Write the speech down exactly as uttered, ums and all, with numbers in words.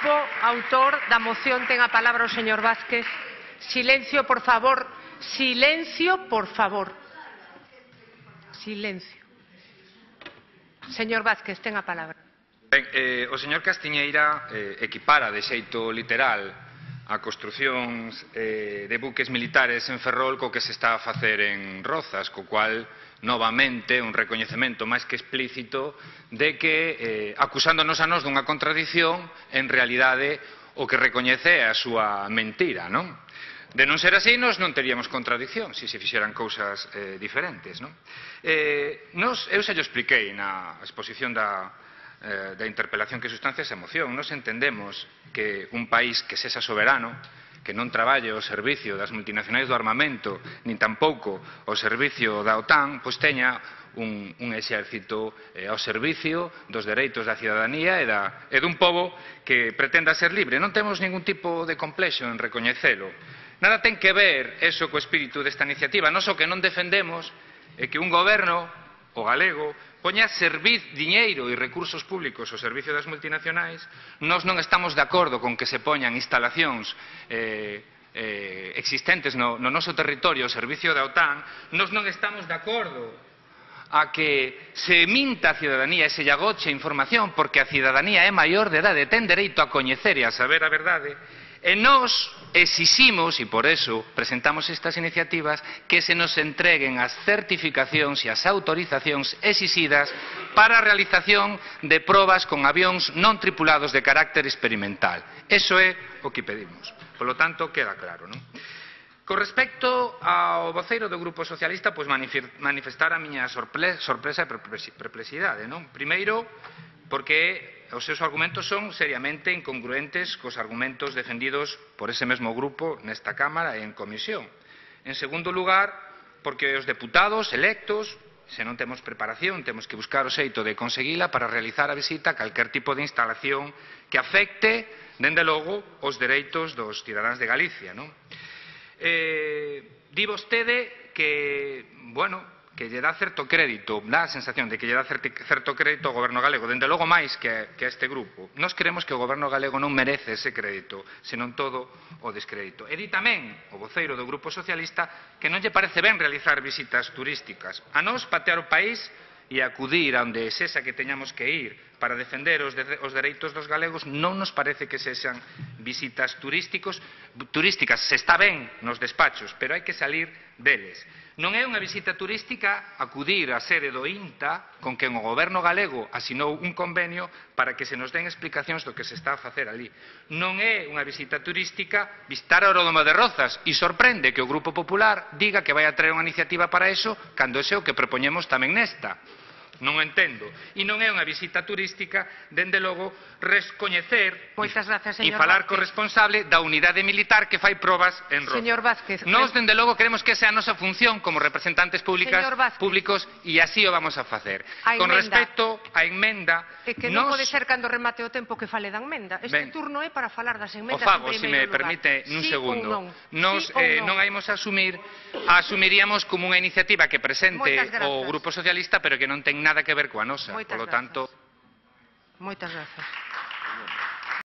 grupo autor da moción ten a palabra o señor Vázquez. Silencio, por favor. Silencio, por favor. Silencio. Señor Vázquez, ten a palabra. Ben, eh, o señor Castiñeira eh, equipara de xeito literal a construcións eh, de buques militares en Ferrol co que se está a facer en Rozas, co cual, novamente, un recoñecemento máis que explícito de que, eh, acusándonos a nos dunha contradición, en realidade o que recoñece é a súa mentira, non? De non ser así, nos non teríamos contradición, se se fixeran cousas eh, diferentes, non? Eh, nos, eu se llo expliquei na exposición da eh, da interpelación que sustancia esa moción. Nos entendemos que un país que sexa soberano, que non traballe ao servicio das multinacionais do armamento, nin tampouco ao servicio da OTAN, pois teña un, un exército eh, ao servicio dos dereitos da cidadanía e, da, e dun pobo que pretenda ser libre. Non temos ningún tipo de complexo en recoñecelo. Nada ten que ver eso co espírito desta iniciativa. Nos o que non defendemos é que un goberno, o galego, poña servir diñeiro e recursos públicos ao servicio das multinacionais. Nós non estamos de acordo con que se poñan instalacións eh, eh, existentes no, no noso territorio ao servicio da OTAN. Nós non estamos de acordo a que se minta a cidadanía e se lle agoche información, porque a cidadanía é maior de edade, ten dereito a coñecer e a saber a verdade. E nós exiximos, e por eso presentamos estas iniciativas, que se nos entreguen as certificacións e as autorizacións exixidas para a realización de probas con avións non tripulados de carácter experimental. Eso é o que pedimos. Por lo tanto, queda claro, non? Con respecto ao voceiro do Grupo Socialista, pois manifestar a miña sorpresa e perplexidade, non? Primeiro, porque os seus argumentos son seriamente incongruentes cos argumentos defendidos por ese mesmo grupo nesta Cámara e en comisión. En segundo lugar, porque os deputados electos, se non temos preparación, temos que buscar o xeito de conseguila para realizar a visita a calquer tipo de instalación que afecte, dende logo, os dereitos dos cidadáns de Galicia, non? Eh, di vostede que, bueno, que lle dá certo crédito, dá a sensación de que lle dá certo crédito ao goberno galego, dende logo máis que, que a este grupo. Nós creemos que o goberno galego non merece ese crédito, senón todo o descrédito. E di tamén o voceiro do Grupo Socialista que non lle parece ben realizar visitas turísticas. A nós patear o país e acudir a onde sexa que teñamos que ir para defender os, de, os dereitos dos galegos non nos parece que sexan visitas turísticos, turísticas. Se está ben nos despachos, pero hai que salir deles. Non é unha visita turística acudir á sede do INTA con quen o goberno galego asinou un convenio para que se nos den explicacións do que se está a facer ali. Non é unha visita turística visitar o aeródromo de Rozas e sorprende que o Grupo Popular diga que vai a traer unha iniciativa para eso cando ese é o que propoñemos tamén nesta. Non o entendo. E non é unha visita turística, dende logo, recoñecer e falar co responsable da unidade militar que fai probas en Rozas. Señor Vázquez. Nós, dende logo, queremos que esa é a nosa función como representantes públicos e así o vamos a facer. Con respecto á enmenda... É que non pode ser cando remate o tempo que fale da enmenda. Este turno é para falar das enmendas en primeiro lugar. O fago, se me permite, nun segundo. Nos non imos a asumir, asumiríamos como unha iniciativa que presente o Grupo Socialista, pero que non ten nada que ver coa nosa. Por lo tanto... Moitas grazas.